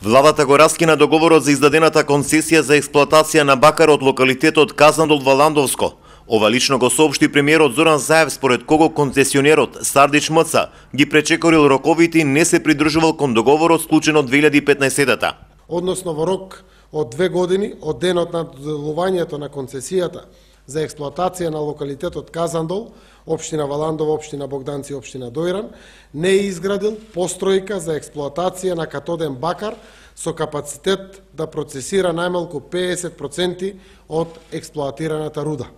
Владата го раскина договорот за издадената концесија за експлоатација на бакар од локалитетот Казандол во Ландовско. Ова лично го соопшти премиерот Зоран Заев, според кого концесионерот Сардич МЦ ги пречекорил роковите и не се придржувал кон договорот склучен од 2015-та. Односно во рок од 2 години од денот на доделувањето на концесијата за експлоатација на локалитетот Казандол, општина Валандово, општина Богданци, општина Дојран, не е изградил постројка за експлоатација на катоден бакар со капацитет да процесира најмалку 50% од експлоатираната руда.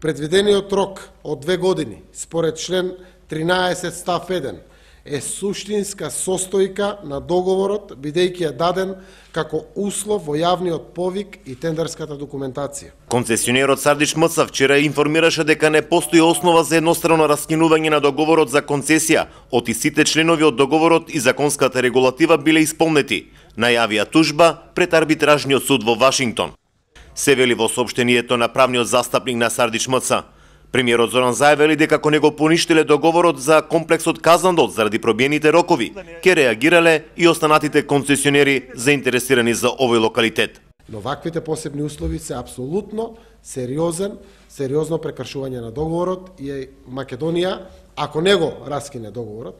Предвидениот рок од 2 години, според член 13 став 1, е суштинска состојка на договорот, бидејќи е даден како услов во јавниот повик и тендерската документација. Концесионерот Сардич МЦ вчера информираше дека не постои основа за еднострано раскинување на договорот за концесија, оти сите членови од договорот и законската регулатива биле исполнети. Најавија тужба пред арбитражниот суд во Вашингтон. Се вели во соопштението на правниот застапник на Сардич МЦ. Премиерот Зоран Заев вели дека ако не го поништиле договорот за комплексот Казандол заради пробиените рокови, ќе реагирале и останатите концесионери заинтересирани за овој локалитет. Но ваквите посебни услови се апсолутно сериозно прекршување на договорот и Македонија, ако не го раскине договорот,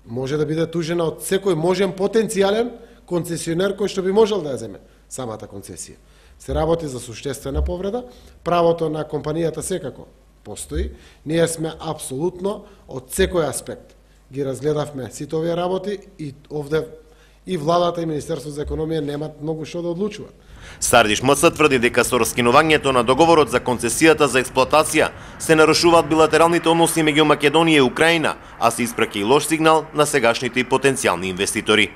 може да биде тужена од секој можен потенцијален концесионер кој што би можел да ја земе самата концесија. Се работи за суштествена повреда, правото на компанијата секако постои. Ние сме апсолутно од секој аспект ги разгледавме сите овие работи и овде и владата и Министерството за економија немат многу што да одлучуваат. Сардич МЦ тврди дека со раскинувањето на договорот за концесијата за експлоатација се нарушуваат билатералните односи меѓу Македонија и Украина, а се испраќа и лош сигнал на сегашните и потенцијални инвеститори.